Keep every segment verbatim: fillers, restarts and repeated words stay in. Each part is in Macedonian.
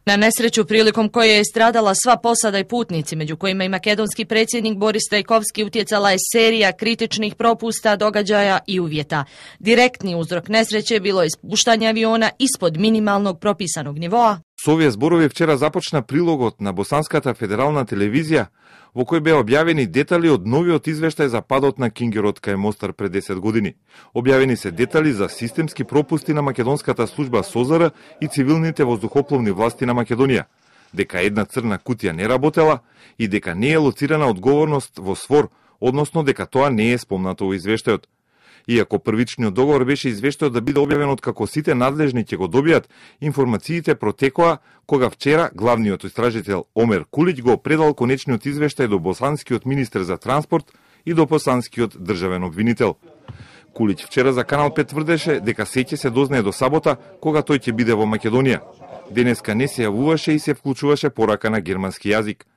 На несреќу приликом која е страдала сва посада и путници, меѓу којима и македонски претседник Борис Трајковски, утjecala е серија критичних пропуста, догаѓаја и увјета. Директни узрок несреće било е спуштање авиона испод минималног прописаnog нивоа. Со овие зборови вчера започна прилогот на Босанската федерална телевизија, во кој беа објавени детали од новиот извештај за падот на Кингерот кај Мостар пред десет години. Објавени се детали за системски пропусти на македонската служба СОЗР и цивилните воздухопловни власти на Македонија, дека една црна кутија не работела и дека не е лоцирана одговорност во СВОР, односно дека тоа не е спомнато во извештајот. Иако првичниот договор беше извештајот да биде објавен од како сите надлежни ќе го добијат, информациите протекоа кога вчера главниот истражител Омер Кулиќ го предал конечниот извештај до босанскиот министер за транспорт и до босанскиот државен обвинител. Кулиќ вчера за Канал пет тврдеше дека се ќе се дознае до сабота кога тој ќе биде во Македонија. Денеска не се јавуваше и се вклучуваше порака на германски јазик.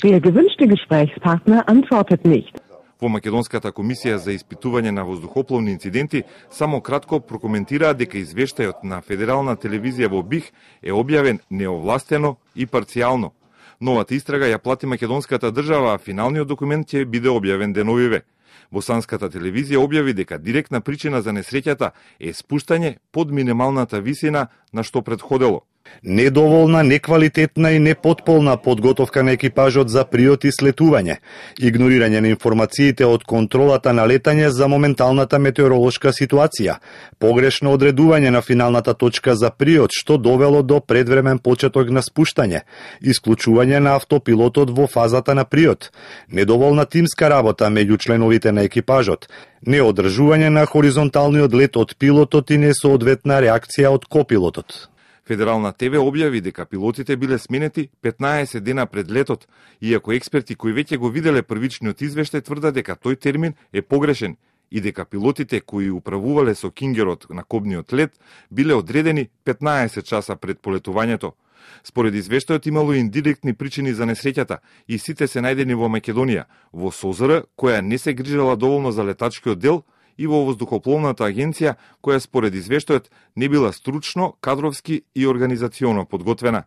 Der gewünschte Gesprächspartner antwortet nicht. Во Македонската комисија за испитување на воздухопловни инциденти само кратко прокоментираа дека извештајот на Федерална телевизија во БИХ е објавен неовластено и парцијално. Новата истрага ја плати македонската држава, а финалниот документ ќе биде објавен деновиве. Босанската телевизија објави дека директна причина за несреќата е спуштање под минималната висина на што предходело. Недоволна, неквалитетна и непотполна подготовка на екипажот за приот и слетување, игнорирање на информациите од контролата на летање за моменталната метеоролошка ситуација, погрешно одредување на финалната точка за приот што довело до предвремен почеток на спуштање, исклучување на автопилотот во фазата на приот, недоволна тимска работа меѓу членовите на екипажот, неодржување на хоризонталниот лет од пилотот и несоодветна реакција од копилотот. Федерална ТВ објави дека пилотите биле сменети петнаесет дена пред летот, иако експерти кои веќе го виделе првичниот извештај тврдат дека тој термин е погрешен и дека пилотите кои управувале со Кингерот на кобниот лет биле одредени петнаесет часа пред полетувањето. Според извештајот имало индиректни причини за несреќата и сите се најдени во Македонија, во СОЗР, која не се грижала доволно за летачкиот дел, и во воздухопловната агенција, која според извештајот не била стручно, кадровски и организационо подготвена.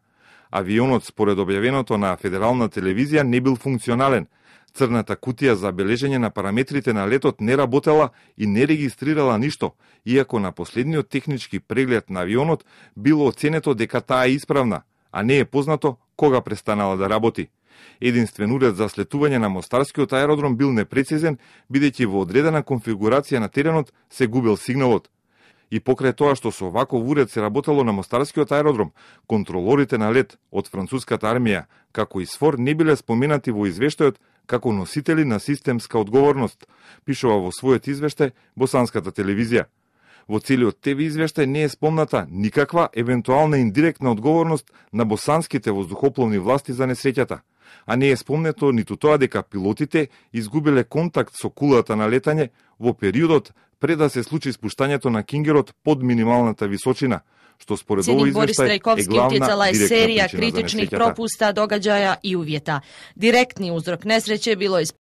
Авионот, според објавеното на Федерална телевизија, не бил функционален. Црната кутија за бележење на параметрите на летот не работела и не регистрирала ништо, иако на последниот технички преглед на авионот било оценето дека таа е исправна, а не е познато кога престанала да работи. Единствен уред за слетување на Мостарскиот аеродром бил непрецизен, бидејќи во одредена конфигурација на теренот се губел сигналот. И покрај тоа што со ваков уред се работело на Мостарскиот аеродром, контролорите на лет од француската армија, како и СФОР, не биле споменати во извештајот како носители на системска одговорност, пишува во својот извештај Босанската телевизија. Во целиот ТВ извештај не е спомната никаква евентуална индиректна одговорност на босанските воздухопловни власти за несреќата, а не е спомнето ниту тоа дека пилотите изгубиле контакт со кулата на летање во периодот пред да се случи спуштањето на Кингерот под минималната височина, што според овој извештај е главна е серија критична критичних пропуста, догаѓаја и увјета. Директни узрок несреće било е